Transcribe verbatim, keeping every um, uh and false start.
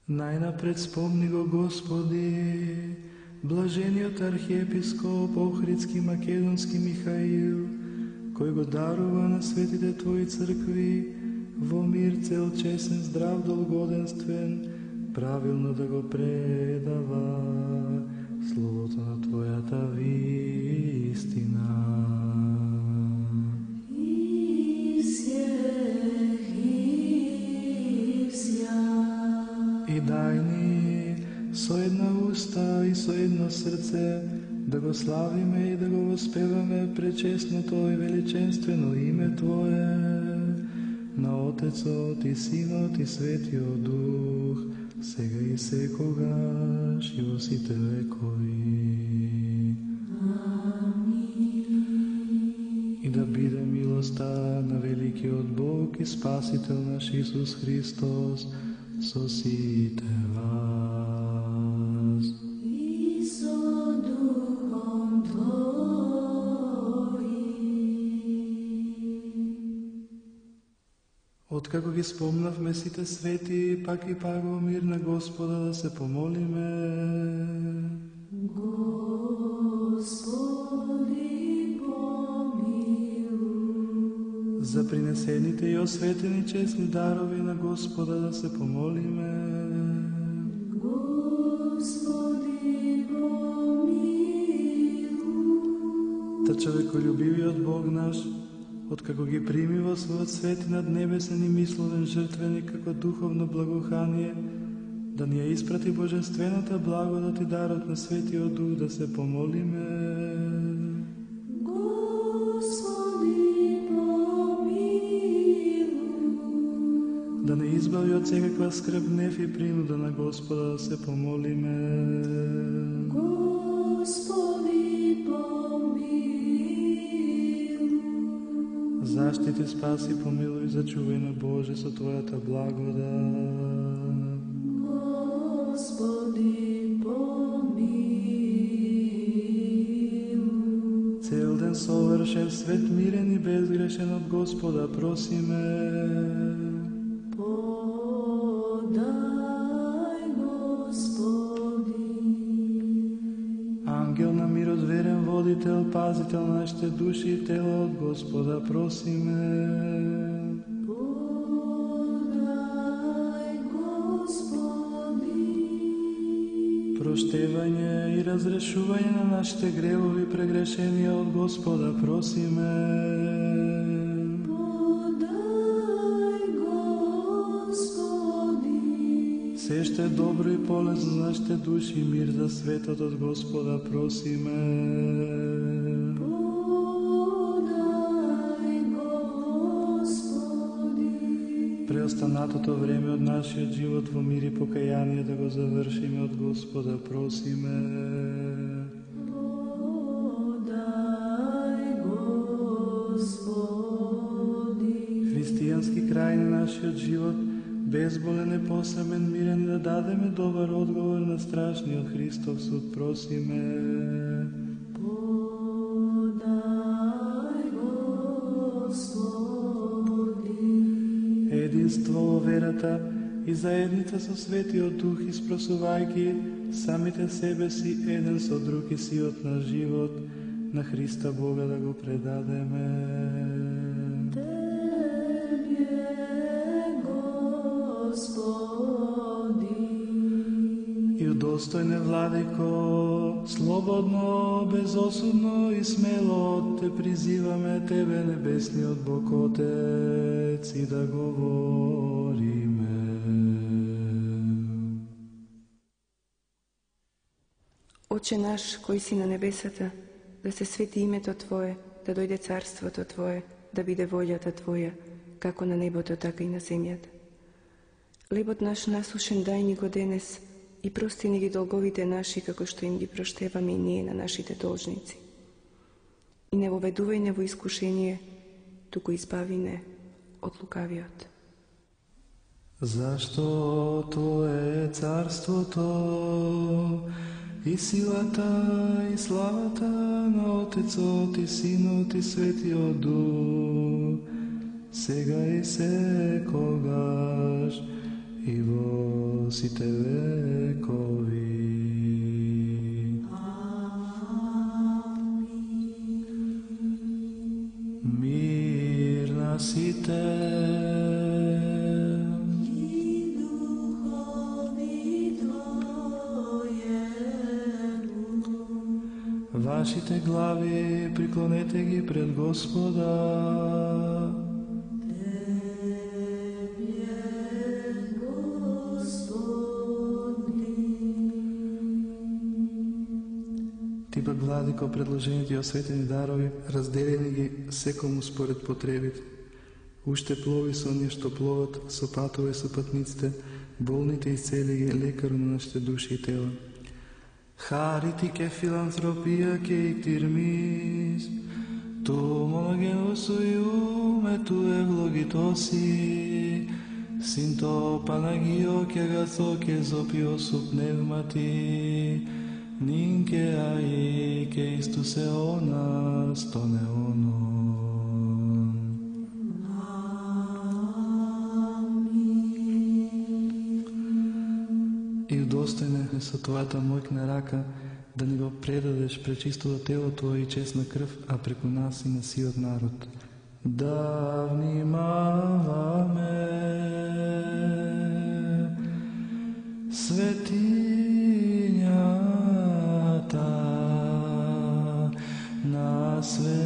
Најнапред спомни го, Господи, блажениот архиепископ Охридски Македонски Михаил, кој го дарува на светите Твои цркви во мир цел, чесен, здрав, долгоденствен, правилно да го предава словото на Твојата вистина. И дај ни со една уста и со едно срце да го славиме и да го воспеваме пречесното и величенствено име Твое, на Отецот и Синот и Светиот Дух, сега и секогаш и во сите векови. Амин. И да биде милоста на великиот Бог и Спасител наш Исус Христос со сите вас. И со Духом Твоим. Откако ги спомнавме сите свети, пак и пак во мир на Господа да се помолиме. Господи, помилуј. За принесените и осветени честни дарови на Господа да се помолиме. Господи, помилуј. Та човеколюбивиот Бог наш, откако ги прими во својот свети наднебесен и мисловен жртвеник како духовно благоухание, да ни ја испрати божествената благодат и дарот на Светиот Дух да се помолиме. Господи, помилуј. Да не избави од секаква скрб, гнев и принуда на Господа да се помолиме. Господи, помилуј. Заштити, спаси, помилуј, зачувај на Боже со Твојата благодат. Господи, помилуј. Цел ден совршен, свет, мирен и безгрешен од Господа просиме. Подај, Господи. Ангел на мирот, верен водител, пазител на нашите души и тела, од Господа просиме. Подај, Господи. Проштевање и разрешување на нашите гревови и прегрешенија од Господа просиме. Подај, Господи. Се што е добро и полезно за нашите души и мир за светот, од Господа просиме. Подај, Господи. Преостанатото време од нашиот живот во мир и покаяние да го завршиме, од Господа просиме. Подај, Господи. Христијански крај на нашиот живот, безболен, непосрамен, мирен, и да дадеме добар одговор на страшниот Христов суд просиме. Подај, Господи. Единство во верата и заедница со Светиот Дух, испросувајќи самите себе си еден со друг и сиот на живот, на Христа Бога да го предадеме. И удостојне, Владико, слободно, безосудно и смело те призиваме Тебе, небесниот Бог Отец, и да говориме. Отче наш, кој си на небесата, да се свети името Твое, да дојде царството Твое, да биде волјата Твоја, како на небото, така и на земјата. Лебот наш насушен дај ни го денес и прости ни ги долговите наши, како што им ги проштеваме и ние на нашите должници. И не воведувај не во искушение, туку избави не од лукавиот. Зашто Твое е царството и силата и славата на Отецот и Синот и Светиот Дух, сега и секогаш и во сите векови. Мир на сите. Вашите глави приклонете ги пред Господа. Ти пак, Владико, предложените и осветени дарови, разделени ги секому според потребите. Уште плови со оние што пловат, со патове со патниците, болните исцели ги, лекар на нашите души и тела. Χαρίτη και φιλανθρωπία και εκτιρμής του μονογενού σου Υιού με του ευλογητώσει συν το Παναγίο και αγαθό και ζωπιό σου πνεύματι νυν και αεί και εις τους αιώνας των αιώνων. И удостоен е со твојата моќна рака да ни го предадеш пречистото тело Твое и честна крв, а преку нас и на сиот народ. Да внимаваме светињата на свет.